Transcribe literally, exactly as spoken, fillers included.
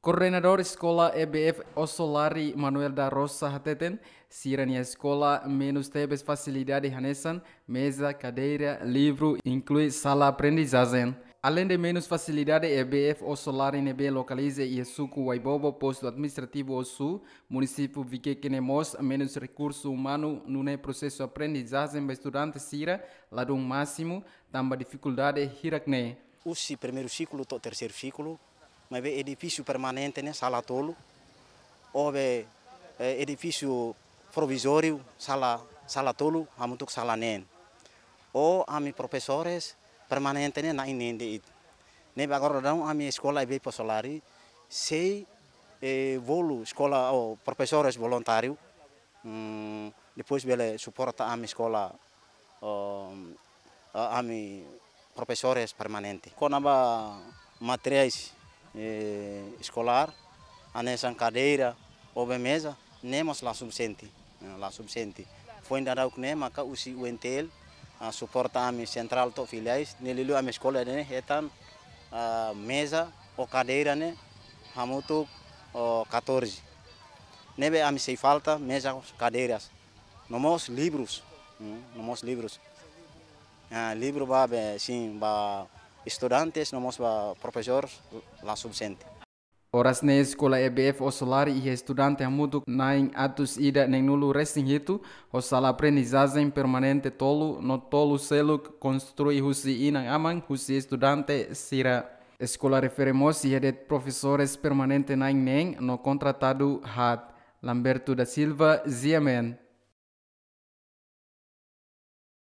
Koordenadór Eskola E B F Osolari, Manuel da Rosa, hateten, sira-nia eskola menus tebes fasilidade hanesan meza, kadeira, livru, inklui sala aprendizajen. Alende menus fasilidade, E B F Osolari ne'ebé lokaliza iha suku Waibobo, postu administrativu Ossu, munisípiu Viqueque ne'e mós menus rekursu umanu, nune'e prosesu aprendizajen ba estudante sira ladún másimu, tanba difikuldade hirak-ne'e. Husi primeiru siklu to'o terseiru siklu, maibé edifísiu permanente ne'e sala tolu, ho be, eh, edifísiu provizóriu sala, sala tolu, hamutuk sala neen. Ho ami profesores permanente ne'e na'in-neen de'it. Ne'ebé agora daudaun ami eskola E B F Osolari sei, eh, bolu eskola ho profesores voluntáriu, mm, depois bele suporta ami eskola, um, a-, ami profesores permanente. Kona-ba materiais, eh, eskolár, hanesan kadeira, ho be meza, ne'e mós la sufisiente, eh, la sufisiente. Foin daudauk ne'e maka husi U N T L, ah, suporta ami sentrál to'o filiais, ne'e liuliu ami eskola ne'e hetan, ah, meza ho kadeira ne'e hamutuk, oh, catorze. Ne'ebé ami sei falta meza, kadeiras, no mós livrus, hmm, no mós livrus. Ah, livru ba be, sin, ba estudantes, no mós ba profesores, la sufisiente. Oras ne'e eskola E B F Osolari iha estudante hamutuk na'in atus ida neen-nulu resin hitu, ho sala aprendizajen permanente tolu, no tolu seluk konstrui husi inan-aman husi estudante sira. Eskola refere mós iha de'it profesores permanente na'in-neen no kontratadu haat. Lamberto da Silva, G M N.